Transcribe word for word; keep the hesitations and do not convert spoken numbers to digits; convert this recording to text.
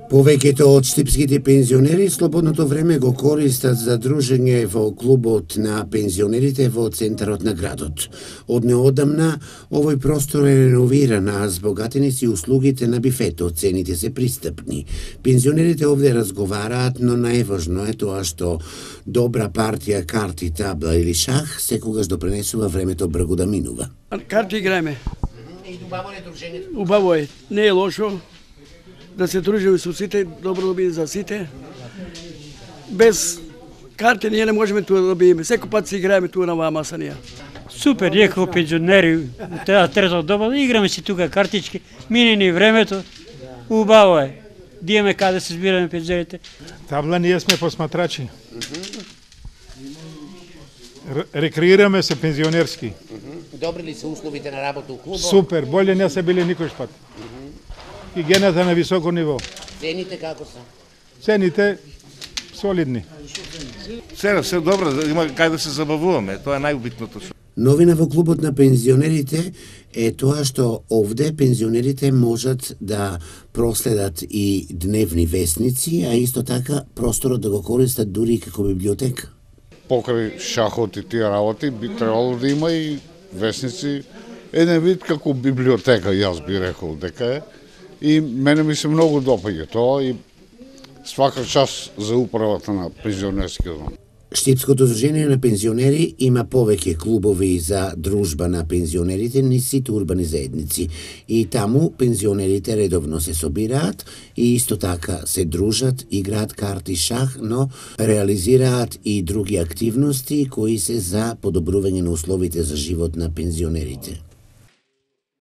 Повеќето од штипските пензионери слободното време го користат за дружење во клубот на пензионерите во центарот на градот. Од неодамна овој простор е реновиран, а збогатени си услугите на бифетот, цените се пристапни. Пензионерите овде разговараат, но најважно е тоа што добра партија карти, табла или шах секогаш допренесува времето бргу да минува. Карти играеме. И убаво е дружењето. Убаво е, не е лошо. Да се дружиме со сите, добро да биде за сите. Без карти ние не можеме туа да биеме. Секој пат си играеме туа на оваа маса ние. Супер, ние како пензионери, теа трето доба, играме си тука картички, мине ни времето, убаво е. Диеме каде се збираме пензионерите. Табла ние сме посматрачи. Рекреираме се пензионерски. Добри ли се условите на работа у клубот? Супер, боле не се биле никој пат. Хигиената на високо ниво. Цените како се? Цените солидни. Сега се добро, има кај да се забавуваме, тоа е најубитното. Новина во клубот на пензионерите е тоа што овде пензионерите можат да проследат и дневни весници, а исто така просторот да го користат дури и како библиотека. Покрај шахот и тие работи би требало да има и весници, еден вид како библиотека, јас би рекол дека е. И мене ми се многу допаѓа тоа и свака час за управата на пензионерскиот дом. Штипското здружение на пензионери има повеќе клубови за дружба на пензионерите низ сите урбани заедници и таму пензионерите редовно се собираат и исто така се дружат, играат карти, шах, но реализираат и други активности кои се за подобрување на условите за живот на пензионерите.